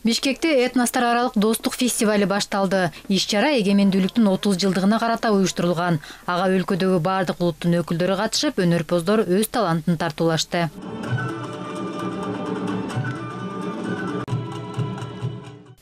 Бишкекте этностор аралык достук фестивали башталды. Иш-чара эгемендүүлүктүн 30 жылдыгына карата уюштурулган. Ага өлкөдөгү бардык улуттун өкүлдөрү катышып, өнөрпоздор өз талантын тартуулашты.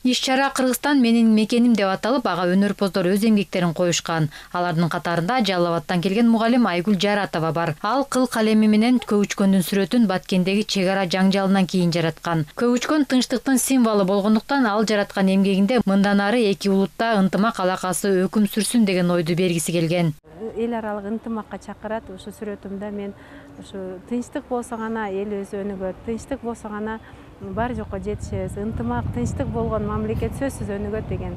Иш-чара Кыргызстан менин мекеним деп аталып, ага өнөрпоздор өз эмгектерин коюшкан. Алардын катарында Жалал Абадтан келген мугалим Айгүл Жаратова бар. Ал кыл калеми менен Көүчкөндүн сүрөтүн Баткендеги чек ара жаңжалынан кийин жараткан. Көүчкөн тынчтыктын символу болгондуктан ал жараткан эмгегинде мындан ары эки улутта ынтымак алакасы өкүм сүрсүн деген ойду бергиси келген. Эл аралык ынтымакка чакырат. Ушу сүрөтүмдө мен ушу тынчтык болсо гана элибиз өнүгөт, тынчтык болсо гана бар жокко жетишебиз, ынтымак, тынчтык болгон мамлекет сөзсүз өнүгөт деген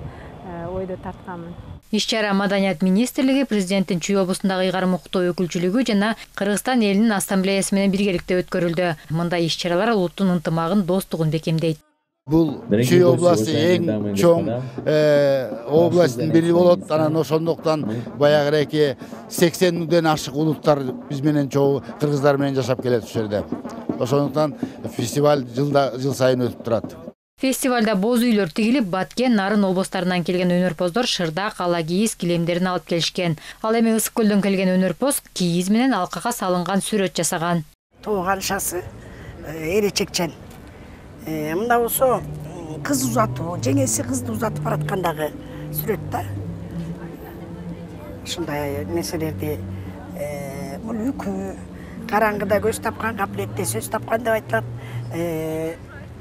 ойду тартканмын. Иш-чара Маданият министрлиги, президенттин Чүй облусундагы ыйгарым укуктуу өкүлчүлүгү жана Кыргызстан элинин ассамблеясы менен биргеликте өткөрүлдү. Мындай иш-чаралар улуттун ынтымагын, достугун бекемдейт. Бул Чүй областы эң чоң областтын бири болот. Анан ошондуктан баягыреки 80ден ашык улуттар биз менен чогуу кыргыздар менен жашап келет ушул жерде. Ошондуктан фестиваль жыл сайын өтүп турат. Фестивалда боз үйлөр тигилип, Баткен, Нарын облустарынан келген өнөрпоздор шырдак, ала кийиз, килемдерин алып келишкен. Ал эми Ысык көлдөн келген өнөрпоз кийиз менен алкага салынган сүрөт жасаган. Тууганшасы эречекчен. Мында болсо кыз узатуу, жеңеси кызды узатып бараткандагы сүрөт да. Ушундай нерселерди бул үкү караңгыда көз тапкан, капилетте сөз тапкан деп айтылат.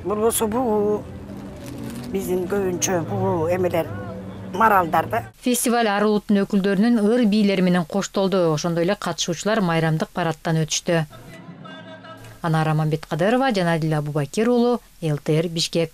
Бул болсо бул биздин көбүнчө бул эмелер маралдар да. Фестиваль ар улуттун өкүлдөрүнүн ыр бийлери менен коштолду. Ошондой эле катышуучулар майрамдык парадтан өтүштү. Анара Мамбеткадырова, Жанадил Абубакир уулу, ЛТР Бишкек.